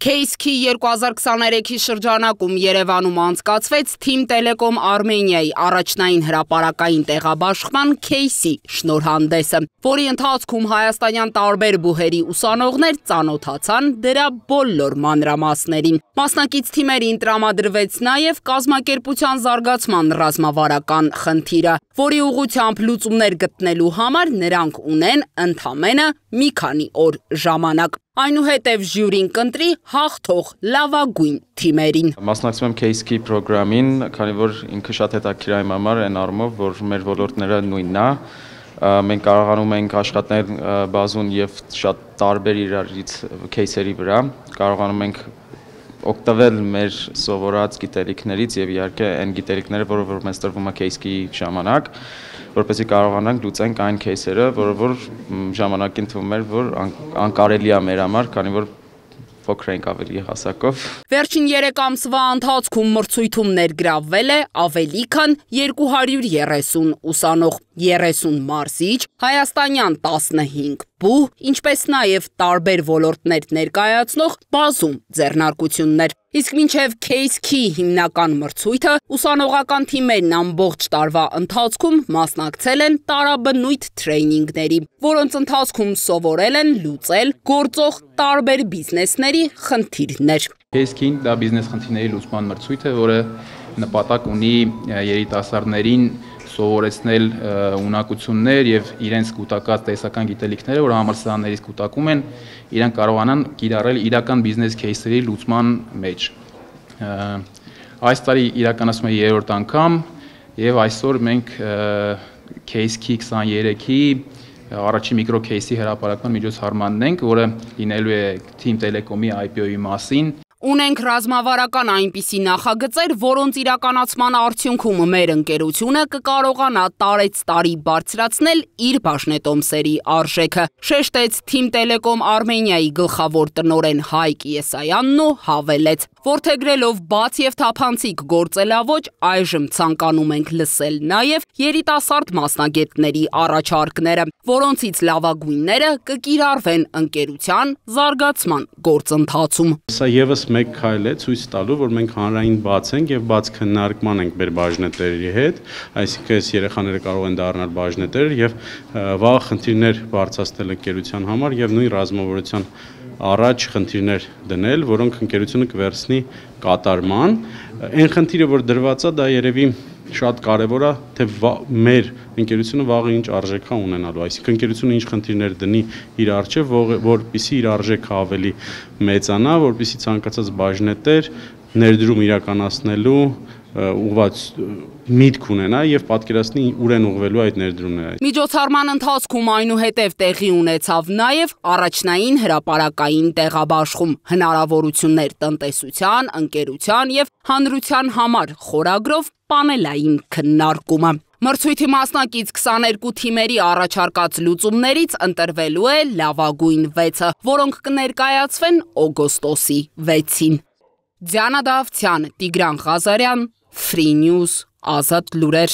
Case-Key 2023-ի շրջանակում Երևանում անցկացվեց Թիմ Տելեկոմ Արմենիայի առաջնային հրապարակային տեղաբաշխման Case-ի շնորհանդեսը, որի ընթացքում հայաստանյան տարբեր բուհերի ուսանողներ ծանոթացան դրա բոլոր մանրամասներին։ Մասնակից թիմերին տրամադրվեց նաև կազմակերպության զարգացման ռազմավարական խնդիրը, որի ուղղությամբ լուծումներ գտնելու համար նրանք ունեն ընդամենը մի քանի օր ժամանակ։ Այնուհետև ժյուրին կընտրի հաղթող լավագույն թիմերին։ Մասնակցում եմ Case-Key պրոգրամին, քանի որ ինքը շատ հետաքրքիր է իմ համար այն առումով, որ մեր ոլորտները նույնն է։ Մենք կարողանում ենք աշխատել բազում եւ շատ տարբեր իրարից кейսերի վրա, կարողանում ենք օգտվել մեր սովորած գիտելիքներից եւ իհարկե այն գիտելիքները, որը մեզ տրվում է Case-Key ժամանակ, որպեսզի կարողանանք լուծենք այն кейսերը, որ ժամանակին թվում էր, որ անկարելի է մեր համար, քանի որ փոքր ենք ավելի հասակով։ Վերջին 3 ամսվա ընթացքում մրցույթում ներգրավվել է ավելի քան 230 ուսանող, 30 մարզիչ, հայաստանյան 15 բուհ, ինչպես նաև տարբեր ոլորտներ ներկայացնող բազում ձեռնարկություններ։ Իսկ մինչև Case-Key հիմնական մրցույթը ուսանողական թիմերն ամբողջ տարվա ընթացքում մասնակցել են տարաբնույթ թրեյնինգների, որոնց ընթացքում սովորել են լուծել գործող տարբեր բիզնեսների խնդիրներ։ Case-Key-ն դա բիզնես խնդիրների լուծման մրցույթ է, որը նպատակ ունի երիտասարդներին սովորեցնել ունակություններ եւ իրենց կուտակած տեսական գիտելիքները, որ համալսարաններից կուտակում են, իրենք կարողանան կիրառել իրական բիզնես кейսերի լուծման մեջ։ Այս տարի իրականացում է 3-րդ անգամ եւ այսօր մենք Case-Key 23-ի առաջին միկրո кейսի հրապարակման միջոցառմանն ենք, որը լինելու է Թիմ Տելեկոմի IPO-ի մասին։ Ունենք ռազմավարական այնպիսի նախագծեր, որոնց իրականացման արդյունքում մեր ընկերությունը կկարողանա տարեցտարի բարձրացնել իր բաժնետոմսերի արժեքը, շեշտեց Թիմ Տելեկոմ Արմենիայի գլխավոր տնօրեն Հայկ Եսայանն ու հավելեց, որդեգրելով բաց եւ թափանցիկ գործելավոճ, այժմ ցանկանում ենք լսել նաև երիտասարդ մասնագետների առաջարկները, որոնցից լավագույնները կկիրառվեն ընկերության զարգացման գործընթացում։ Սա եւս մեկ քայլ է ցույց տալու, որ մենք հանրային բաց ենք եւ բաց քննարկման ենք մեր բաժնետերերի հետ, այսինքն այս երեխաները կարող են դառնալ բաժնետեր եւ վաղ խնդիրներ բարձրացնել ընկերության համար եւ նույն ռազմավարության առաջ խնդիրներ դնել, որոնք ընկերությունը կվերցնի կատարման։ Այն խնդիրը, որ դրված է, դա երևի շատ կարևոր է, թե մեր ընկերությունը վաղը ինչ արժեք է ունենալու, այսինքն ընկերությունը ինչ խնդիրներ դնի իր առջև, որպեսզի իր արժեքը ավելի մեծանա, որպեսզի ցանկացած բաժնետեր ներդրում իրականացնելու ուղղված միտք ունենա եւ պատկերացնի ուր են ուղղվելու այդ ներդրումները։ Միջոցառման ընթացքում այնուհետև տեղի ունեցավ նաև առաջնային հրապարակային տեղաբաշխում, հնարավորություններ տնտեսության, ընկերության եւ հանրության համար խորագրով պանելային քննարկումը։ Մրցույթի մասնակից 22 թիմերի առաջարկած լուծումներից ընտրվելու է լավագույն 6-ը, որոնք կներկայացվեն օգոստոսի 6-ին։ Դիանա Դավթյան, Տիգրան Ղազարյան, Free News, Ազատ լուրեր։